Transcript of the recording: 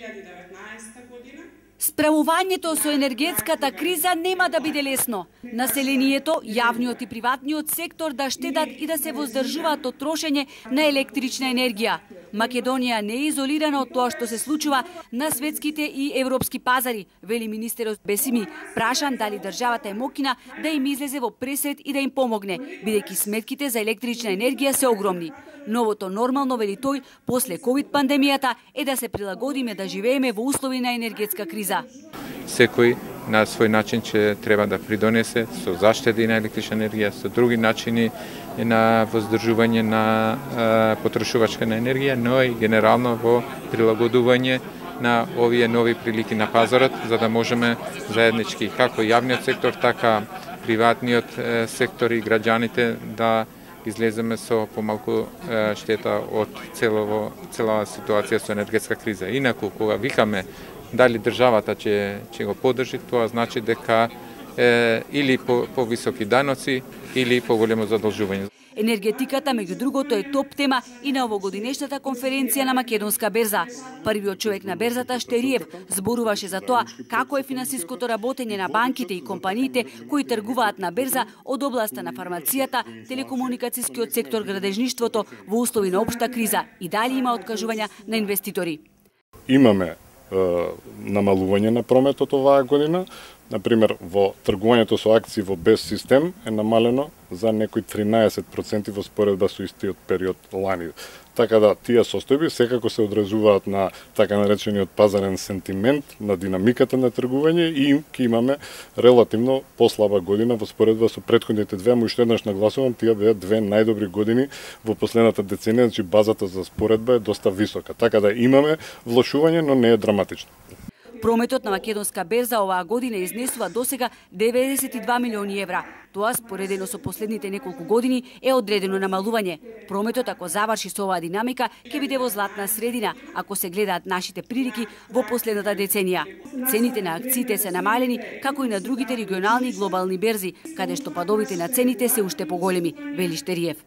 2019 година. Справувањето со енергетската криза нема да биде лесно. Населението, јавниот и приватниот сектор да штедат и да се воздржуваат од трошење на електрична енергија. Македонија не е изолирана од тоа што се случува на светските и европски пазари, вели министерот Бесими, прашан дали државата е мокина да им излезе во пресред и да им помогне, бидејќи сметките за електрична енергија се огромни. Новото нормално, вели тој, после ковид пандемијата е да се прилагодиме да живееме во услови на енергетска криза. Секој на свој начин ќе треба да придонесе со заштеди на електрична енергија, со други начини на воздржување на потрошувачка на енергија, но и генерално во прилагодување на овие нови прилики на пазарот, за да можеме заеднички, како јавниот сектор, така приватниот сектор и граѓаните да излеземе со помалку штета од целава ситуација со енергетска криза. Инаку, кога викаме дали државата ќе го поддржи, тоа значи дека или повисоки даноци, или поголемо задолжување. Енергетиката, меѓу другото, е топ тема и на овогодинешната конференција на Македонска берза. Првиот човек на берзата, Штериев, зборуваше за тоа како е финансиското работење на банките и компаниите кои тргуваат на берза од областа на фармацијата, телекомуникацијскиот сектор, градежништвото во услови на општа криза и дали има откажувања на инвеститори. Имаме намалување на прометот оваа година. Например, во тргувањето со акции во без систем е намалено за некои 13% во споредба со истиот период лани. Така да, тие состојби секако се одразуваат на така наречениот пазарен сентимент, на динамиката на тргување и ќе имаме релативно послаба година во споредба со претходните две, уште еднаш нагласувам, тие беа две најдобри години во последната деценија, значи базата за споредба е доста висока. Така да имаме влошување, но не е драматично. Прометот на Македонска берза оваа година изнесува досега 92 милиони евра. Тоа, споредено со последните неколку години, е одредено намалување. Прометот, ако заврши со оваа динамика, ќе биде во златна средина, ако се гледаат нашите прилики во последната деценија. Цените на акциите се намалени, како и на другите регионални и глобални берзи, каде што падовите на цените се уште поголеми, вели Штериев.